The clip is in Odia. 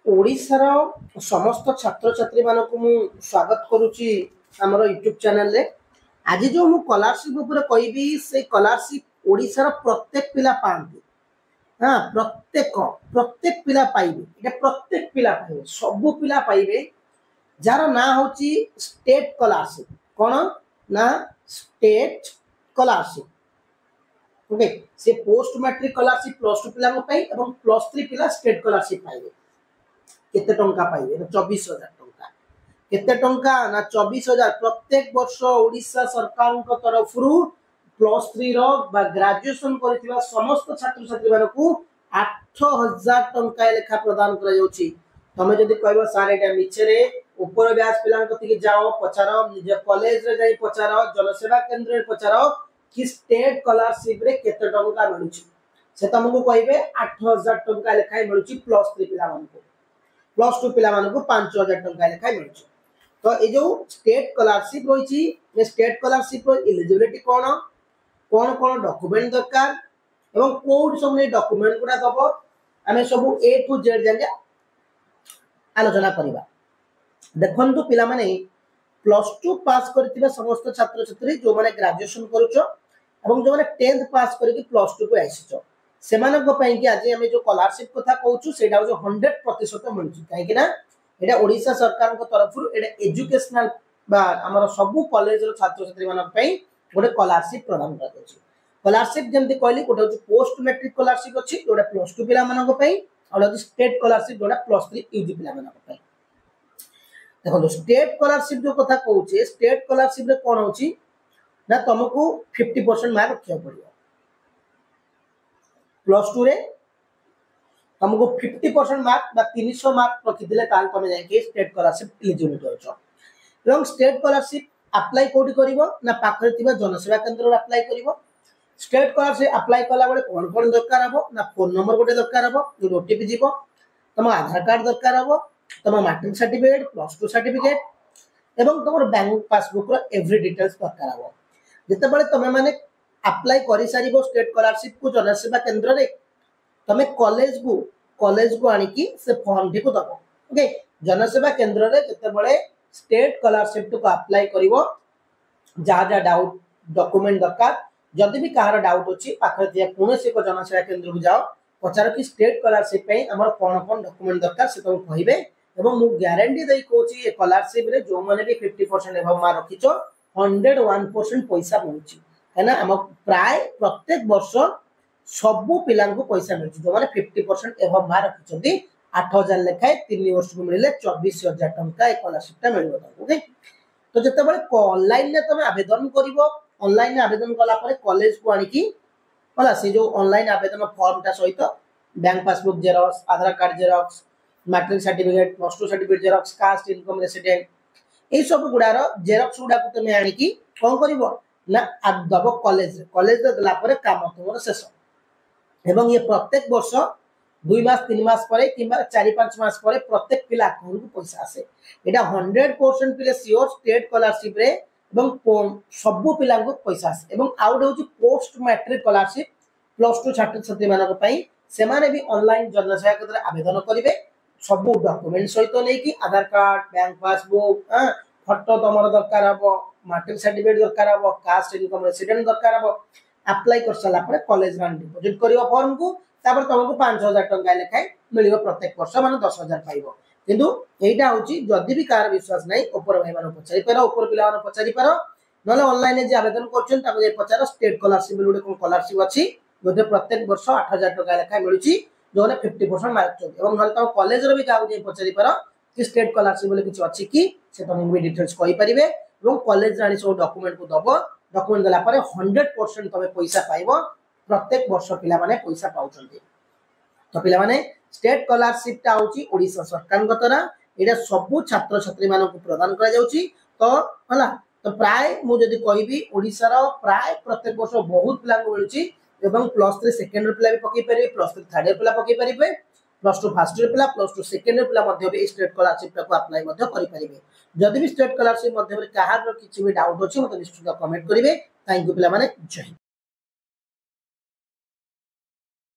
ଓଡ଼ିଶାର ସମସ୍ତ ଛାତ୍ରଛାତ୍ରୀମାନଙ୍କୁ ମୁଁ ସ୍ୱାଗତ କରୁଛି ଆମର ୟୁଟ୍ୟୁବ୍ ଚ୍ୟାନେଲରେ। ଆଜି ଯେଉଁ ମୁଁ ସ୍କଲାରସିପ୍ ଉପରେ କହିବି, ସେ ସ୍କଲାରସିପ୍ ଓଡ଼ିଶାର ପ୍ରତ୍ୟେକ ପିଲା ପାଆନ୍ତି। ହଁ, ପ୍ରତ୍ୟେକ ପ୍ରତ୍ୟେକ ପିଲା ପାଇବେ। ଏଇଟା ପ୍ରତ୍ୟେକ ପିଲା ପାଇବେ, ସବୁ ପିଲା ପାଇବେ, ଯାହାର ନାଁ ହେଉଛି ଷ୍ଟେଟ୍ ସ୍କଲାରସିପ୍। କ'ଣ ନା ଷ୍ଟେଟ୍ ସ୍କଲାରସିପ୍। ଓକେ, ସେ ପୋଷ୍ଟ ମାଟ୍ରିକ ସ୍କଲାରସିପ୍ +2 ପିଲାଙ୍କ ପାଇଁ ଏବଂ +3 ପିଲା ଷ୍ଟେଟ୍ ସ୍କଲାରସିପ୍ ପାଇବେ। କେତେ ଟଙ୍କା ପାଇବେ ନା 24,000 ଟଙ୍କା। କେତେ ଟଙ୍କା ନା 24,000। ପ୍ରତ୍ୟେକ ବର୍ଷ ଓଡ଼ିଶା ସରକାରଙ୍କ ତରଫରୁ +3ର ବା ଗ୍ରାଜୁଏସନ କରିଥିବା ସମସ୍ତ ଛାତ୍ରଛାତ୍ରୀମାନଙ୍କୁ 8,000 ଟଙ୍କା ଲେଖା ପ୍ରଦାନ କରାଯାଉଛି। ତମେ ଯଦି କହିବ, ସାର୍, ଏଇଟା ମିଛରେ, ଉପର ବ୍ୟାଚ୍ ପିଲାଙ୍କ କତିକି ଯାଅ, ପଚାର, ନିଜ କଲେଜରେ ଯାଇ ପଚାର, ଜନସେବା କେନ୍ଦ୍ରରେ ପଚାର କି ଷ୍ଟେଟ୍ ସ୍କଲାରସିପରେ କେତେ ଟଙ୍କା ମିଳୁଛି। ସେ ତମକୁ କହିବେ 8,000 ଟଙ୍କା ଲେଖାଏଁ ମିଳୁଛି +3 ପିଲାମାନଙ୍କୁ, +2 ପିଲାମାନଙ୍କୁ 5,000 ଟଙ୍କା ଲେଖାଏଁ ମିଳୁଛି। ତ ଏଇ ଯୋଉ ଷ୍ଟେଟ୍ ସ୍କଲାରସିପ୍ ରହିଛି, ଏ ଷ୍ଟେଟ୍ ସ୍କଲାରସିପ୍ର ଇଲିଜିବିଲିଟି କ'ଣ, କ'ଣ କ'ଣ ଡକୁମେଣ୍ଟ ଦରକାର ଏବଂ କୋଉଠି ସବୁ ଏଇ ଡକୁମେଣ୍ଟ ଗୁଡ଼ା ଦବ, ଆମେ ସବୁ ଏ ଟୁ ଜେଡ୍ ଯାକେ ଆଲୋଚନା କରିବା। ଦେଖନ୍ତୁ ପିଲାମାନେ, +2 ପାସ୍ କରିଥିବା ସମସ୍ତ ଛାତ୍ରଛାତ୍ରୀ, ଯେଉଁମାନେ ଗ୍ରାଜୁଏସନ କରୁଛ ଏବଂ ଯେଉଁମାନେ 10th pass କରିକି +2କୁ ଆସିଛ, ସେମାନଙ୍କ ପାଇଁକି ଆଜି ଆମେ ଯୋଉ ସ୍କଲାରସିପ୍ କଥା କହୁଛୁ, ସେଇଟା ହଉଛି 100% ମିଳୁଛି। କାହିଁକି ନା ଏଇଟା ଓଡ଼ିଶା ସରକାରଙ୍କ ତରଫରୁ, ଏଇଟା ଏଜୁକେସନାଲ ବା ଆମର ସବୁ କଲେଜର ଛାତ୍ରଛାତ୍ରୀମାନଙ୍କ ପାଇଁ ଗୋଟେ ସ୍କଲାରସିପ୍ ପ୍ରଦାନ କରାଯାଉଛି। ସ୍କଲାରସିପ୍ ଯେମିତି କହିଲି, ଗୋଟେ ହଉଛି ପୋଷ୍ଟ ମେଟ୍ରିକ ସ୍କଲାରସିପ୍ ଅଛି, ଯୋଉଟା +2 ପିଲାମାନଙ୍କ ପାଇଁ, ଆଉ ଗୋଟେ ହଉଛି ଷ୍ଟେଟ୍ ସ୍କଲାରସିପ୍, ଯୋଉଟା +3 ୟୁଜି ପିଲାମାନଙ୍କ ପାଇଁ। ଦେଖନ୍ତୁ, ଷ୍ଟେଟ୍ ସ୍କଲାରସିପ୍ ଯୋଉ କଥା କହୁଛେ, ଷ୍ଟେଟ୍ ସ୍କଲାରସିପ୍ରେ କ'ଣ ହଉଛି ନା ତମକୁ 50% ମାର୍କ ରଖିବାକୁ ପଡ଼ିବ। +2ରେ ତମକୁ 50% ମାର୍କ ବା 300 ମାର୍କ ରଖିଥିଲେ, ତାହେଲେ ତମେ ଯାଇକି ଷ୍ଟେଟ୍ ସ୍କଲାରସିପ୍ ଇଲିଜିବିଲିଟି ଅଛ। ଏବଂ ଷ୍ଟେଟ୍ ସ୍କଲାରସିପ୍ ଆପ୍ଲାଏ କୋଉଠି କରିବ ନା ପାଖରେ ଥିବା ଜନସେବା କେନ୍ଦ୍ରରେ ଆପ୍ଲାଏ କରିବ। ଷ୍ଟେଟ୍ ସ୍କଲାରସିପ୍ ଆପ୍ଲାଏ କଲାବେଳେ କ'ଣ କ'ଣ ଦରକାର ହବ ନା ଫୋନ୍ ନମ୍ବର ଗୋଟେ ଦରକାର ହବ, ଯୋଉଠି ଓଟିପି ଯିବ, ତମ ଆଧାର କାର୍ଡ ଦରକାର ହବ, ତମ ମାଟ୍ରିକ ସାର୍ଟିଫିକେଟ, +2 ସାର୍ଟିଫିକେଟ ଏବଂ ତମର ବ୍ୟାଙ୍କ ପାସବୁକର ଏଭ୍ରି ଡିଟେଲ୍ସ ଦରକାର ହବ। ଯେତେବେଳେ ତମେ ମାନେ ଆପ୍ଲାଏ କରିସାରିବ ଷ୍ଟେଟ୍ ସ୍କଲାରସିପକୁ ଜନସେବା କେନ୍ଦ୍ରରେ, ତମେ କଲେଜକୁ ଆଣିକି ସେ ଫର୍ମଟିକୁ ଦବ। ଓକେ, ଜନସେବା କେନ୍ଦ୍ରରେ ଯେତେବେଳେ ଷ୍ଟେଟ୍ ସ୍କଲାରସିପଟିକୁ ଆପ୍ଲାଏ କରିବ, ଯାହା ଯାହା ଡାଉଟ୍ ଡକୁମେଣ୍ଟ ଦରକାର, ଯଦି ବି କାହାର ଡାଉଟ୍ ଅଛି, ପାଖରେ ଥିବା କୌଣସି ଏକ ଜନସେବା କେନ୍ଦ୍ରକୁ ଯାଅ, ପଚାର କି ଷ୍ଟେଟ୍ ସ୍କଲାରସିପ୍ ପାଇଁ ଆମର କ'ଣ କ'ଣ ଡକୁମେଣ୍ଟ ଦରକାର। ସେ ତମକୁ କହିବେ। ଏବଂ ମୁଁ ଗ୍ୟାରେଣ୍ଟି ଦେଇ କହୁଛି, ଏ ସ୍କଲାରସିପ୍ରେ ଯେଉଁମାନେ ବି 50% ଏବଭ ମାର୍କ ରଖିଛ, 101% ପଇସା ମିଳୁଛି। କାହିଁକିନା ଆମ ପ୍ରାୟ ପ୍ରତ୍ୟେକ ବର୍ଷ ସବୁ ପିଲାଙ୍କୁ ପଇସା ମିଳୁଛି, ଯେଉଁମାନେ 50% ଏବଭ ମାର୍କ ରଖିଛନ୍ତି। 8,000 ଲେଖାଏଁ 3 ବର୍ଷକୁ ମିଳିଲେ 24,000 ଟଙ୍କା ଏ ସ୍କଲାରସିପ୍ଟା ମିଳିବ ତାଙ୍କୁ। ଓକେ, ତ ଯେତେବେଳେ ଅନଲାଇନରେ ତମେ ଆବେଦନ କରିବ, ଅନଲାଇନରେ ଆବେଦନ କଲା ପରେ କଲେଜକୁ ଆଣିକି ହେଲା ସେ ଯୋଉ ଅନଲାଇନ ଆବେଦନ ଫର୍ମଟା ସହିତ bank passbook xerox, ଆଧାର card xerox, matric certificate, +2 certificate xerox, caste, income, resident, ଏଇ ସବୁ ଗୁଡାର ଜେରକ୍ସ ଗୁଡାକୁ ତମେ ଆଣିକି କ'ଣ କରିବ ନା ଦବ କଲେଜରେ। କଲେଜରେ ଦେଲା ପରେ କାମ ତୁମର ଶେଷ। ଏବଂ ଇଏ ପ୍ରତ୍ୟେକ ବର୍ଷ 2 ମାସ, 3 ମାସ ପରେ କିମ୍ବା 4-5 ମାସ ପରେ ପ୍ରତ୍ୟେକ ପିଲା ଆକାଉଣ୍ଟକୁ ପଇସା ଆସେ। ଏଇଟା 100% ପିଲା ସିଓର ଷ୍ଟେଟ୍ ସ୍କଲାରସିପ୍ରେ ଏବଂ ସବୁ ପିଲାଙ୍କୁ ପଇସା ଆସେ। ଏବଂ ଆଉ ଗୋଟେ ହେଉଛି ପୋଷ୍ଟ ମାଟ୍ରିକ ସ୍କଲାରସିପ୍ +2 ଛାତ୍ରଛାତ୍ରୀମାନଙ୍କ ପାଇଁ। ସେମାନେ ବି ଅନଲାଇନ ଜନସେବା କେନ୍ଦ୍ରରେ ଆବେଦନ କରିବେ, ସବୁ ଡକୁମେଣ୍ଟ ସହିତ ନେଇକି, ଆଧାର କାର୍ଡ, ବ୍ୟାଙ୍କ ପାସବୁକ୍, ଫଟୋ ତମର ଦରକାର ହବ, ମାଟ୍ରିକ ସାର୍ଟିଫିକେଟ ଦରକାର ହବ, କାଷ୍ଟ, ଇନକମ୍, ରେସିଡେଣ୍ଟ ଦରକାର ହବ। ଆପ୍ଲାଏ କରିସାରିଲା ପରେ କଲେଜ ମାନେ ଡିପୋଜିଟ୍ କରିବ ଫର୍ମକୁ। ତାପରେ ତମକୁ 5,000 ଟଙ୍କା ଲେଖାଏଁ ମିଳିବ ପ୍ରତ୍ୟେକ ବର୍ଷ, ମାନେ 10,000 ପାଇବ। କିନ୍ତୁ ଏଇଟା ହଉଛି, ଯଦି ବି କାହାର ବିଶ୍ୱାସ ନାହିଁ, ଉପର ଭାଇମାନଙ୍କୁ ପଚାରିପାର, ଉପର ପିଲାମାନଙ୍କୁ ପଚାରିପାର, ନହେଲେ ଅନଲାଇନରେ ଯିଏ ଆବେଦନ କରୁଛନ୍ତି ତାକୁ ଯାଇ ପଚାର, ଷ୍ଟେଟ୍ ସ୍କଲାରସିପ୍ ବୋଲି ଗୋଟେ କ'ଣ ସ୍କଲାରସିପ୍ ଅଛି, ଯୋଉଥିରେ ପ୍ରତ୍ୟେକ ବର୍ଷ 8,000 ଟଙ୍କା ଲେଖାଏଁ ମିଳୁଛି ଯେଉଁମାନେ 50% ମାର୍କ ରଖିଛନ୍ତି। ଏବଂ ନହେଲେ ତମ କଲେଜର ବି କାହାକୁ ଯାଇ ପଚାରିପାର କି ଷ୍ଟେଟ୍ ସ୍କଲାରସିପ୍ ବୋଲି କିଛି ଅଛି କି, ସେ ତମକୁ ବି ଡିଟେଲ୍ସ କହିପାରିବେ। ଏବଂ କଲେଜରେ ଆଣି ସବୁ ଡକୁମେଣ୍ଟକୁ ଦବ। ଡକୁମେଣ୍ଟ ଦେଲା ପରେ 100% ତମେ ପଇସା ପାଇବ। ପ୍ରତ୍ୟେକ ବର୍ଷ ପିଲାମାନେ ପଇସା ପାଉଛନ୍ତି। ତ ପିଲାମାନେ, ଷ୍ଟେଟ୍ ସ୍କଲାରସିପଟା ହଉଛି ଓଡ଼ିଶା ସରକାରଙ୍କ ଦ୍ୱାରା, ଏଇଟା ସବୁ ଛାତ୍ରଛାତ୍ରୀ ମାନଙ୍କୁ ପ୍ରଦାନ କରାଯାଉଛି। ତ ହେଲା, ତ ପ୍ରାୟ ମୁଁ ଯଦି କହିବି, ଓଡ଼ିଶାର ପ୍ରାୟ ପ୍ରତ୍ୟେକ ବର୍ଷ ବହୁତ ପିଲାଙ୍କୁ ମିଳୁଛି। ଏବଂ +3 ସେକେଣ୍ଡ ପିଲା ବି ପକେଇ ପାରିବେ, +3 ଥାର୍ଡ ଇୟର ପିଲା ପକେଇ ପାରିବେ, +2 ଫାର୍ଷ୍ଟ ଇୟର ପିଲା, +2 ସେକେଣ୍ଡ ଇୟର ପିଲା ମଧ୍ୟ ବି ଏଇ ଷ୍ଟେଟ୍ ସ୍କଲାରସିପଟାକୁ ଆପ୍ଲାଏ ମଧ୍ୟ କରିପାରିବେ। ଯଦି ବି ଷ୍ଟେଟ୍ ସ୍କଲାରସିପ୍ ମଧ୍ୟରେ କାହାର କିଛି ବି ଡାଉଟ୍ ଅଛି, ମୋତେ ନିଶ୍ଚିତ କମେଣ୍ଟ କରିବେ। Thank you ପିଲାମାନେ, ଜୟ ହିନ୍ଦ।